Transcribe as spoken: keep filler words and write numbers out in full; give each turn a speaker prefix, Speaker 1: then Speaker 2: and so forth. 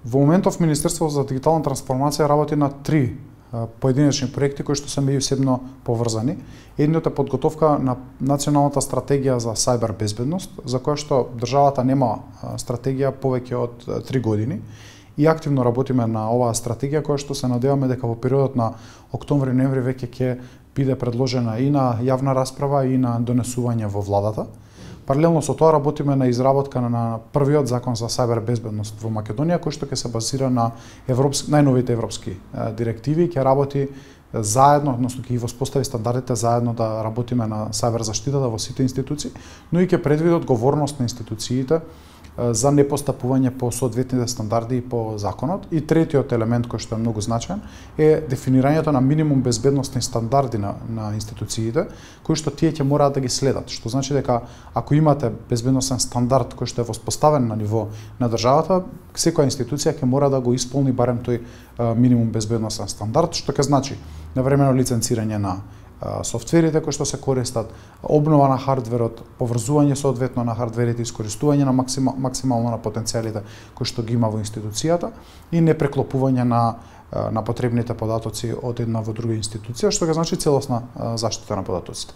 Speaker 1: Во моментов Министерството за дигитална трансформација работи на три поединечни проекти кои што се меѓусебно поврзани. Едниот е подготовка на националната стратегија за сајбер безбедност, за која што државата нема стратегија повеќе од три години и активно работиме на оваа стратегија која што се надеваме дека во периодот на октомври-ноември веќе ќе биде предложена и на јавна расправа и на донесување во владата. Паралелно со тоа работиме на изработка на првиот закон за сајбер безбедност во Македонија, кој што ќе се базира на европски, најновите европски директиви, ќе работи заедно, односно ќе ги воспостави стандардите заедно да работиме на сајбер заштитата во сите институции, но и ќе предвиди одговорност на институциите за непостапување по соодветните стандарди и по законот. И третиот елемент кој што е многу значаен е дефинирањето на минимум безбедносни стандарди на, на институциите, кои што тие ќе мораат да ги следат. Што значи дека ако имате безбедносен стандард кој што е воспоставен на ниво на државата, секоја институција ќе мора да го исполни барем тој минимум безбедносен стандард, што ќе значи навремено лиценцирање на софтверите кои што се користат, обнова на хардверот, поврзување соодветно на хардверите, искористување на максимал, максимално на потенцијалите кои што ги има во институцијата и непреклопување на на потребните податоци од една во друга институција, што ќе значи целосна заштита на податоците.